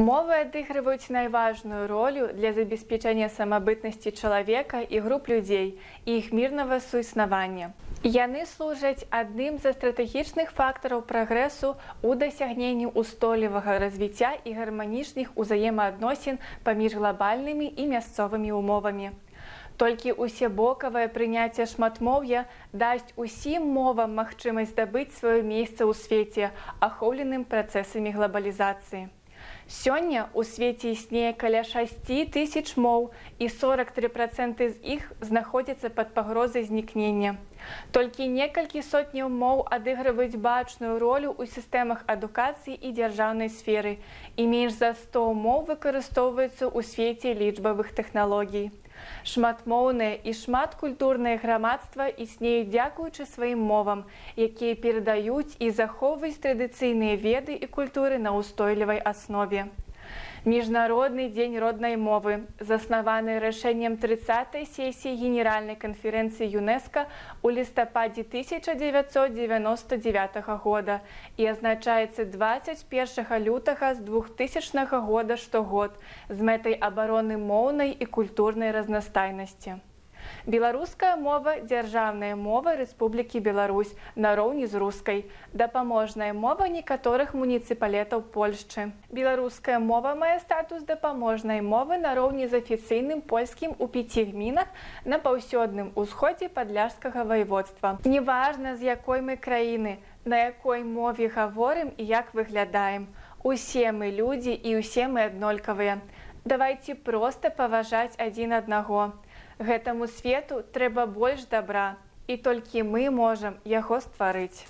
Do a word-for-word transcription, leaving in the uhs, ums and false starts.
Мовы адыгрываюць найважную ролю для забеспячэння самабытнасці чалавека і груп людзей і іх мірнага суіснавання. Яны служаць адным з стратэгічных фактараў прагрэсу ў дасягненні ўстойлівага развіцця і гарманічных узаемаадносін паміж глабальнымі і мясцовымі умовамі. Толькі усебокавае прыняцце шматмоўя дасць усім мовам магчымасць здабыць сваё месца ў свеце, ахоўленым працэсамі глабалізацыі. Сёння ў свеце існуе каля шасці тысяч моў, і сорок тры працэнты з іх знаходзяцца пад пагрозай знікнення. Толькі некалькі сотняў моў адыгрываюць бачную ролю ў сістэмах адукацыі і дзяржаўнай сферы, і менш за сто моў выкарыстоўваюцца ў свеце лічбавых тэхналогій. Шматмоўнае і шматкультурнае грамадства існуюць дзякуючы сваім мовам, якія перадаюць і захоўваюць традыцыйныя веды і культуры на ўстойлівай аснове. Міжнародны дзень роднай мовы, заснаваны рашэннем трыццатай сесіі Генеральнай канферэнцыі ЮНЕСКО ў лістападзе тысяча дзевяцьсот дзевяноста дзевятага года і азначаецца дваццаць першага лютага з двухтысячнага года штогод з мэтай абароны моўнай і культурнай разнастайнасці. Беларуская мова – дзяржаўная мова Рэспублікі Беларусь нароўні з рускай, дапаможная мова некаторых муніцыпалітэтаў Польшчы. Беларуская мова мае статус дапаможнай мовы нароўні з афіцыйным польскім у пяці гмінах на паўсёдным усходзе падляшскага ваеводства. Неважна, з якой мы краіны, на якой мове гаворым і як выглядаем. Усе мы людзі і ўсе мы аднолькавыя. Давайце проста паважаць адзін аднаго. Гэтаму свету трэба больш дабра, і толькі мы можам яго стварыць.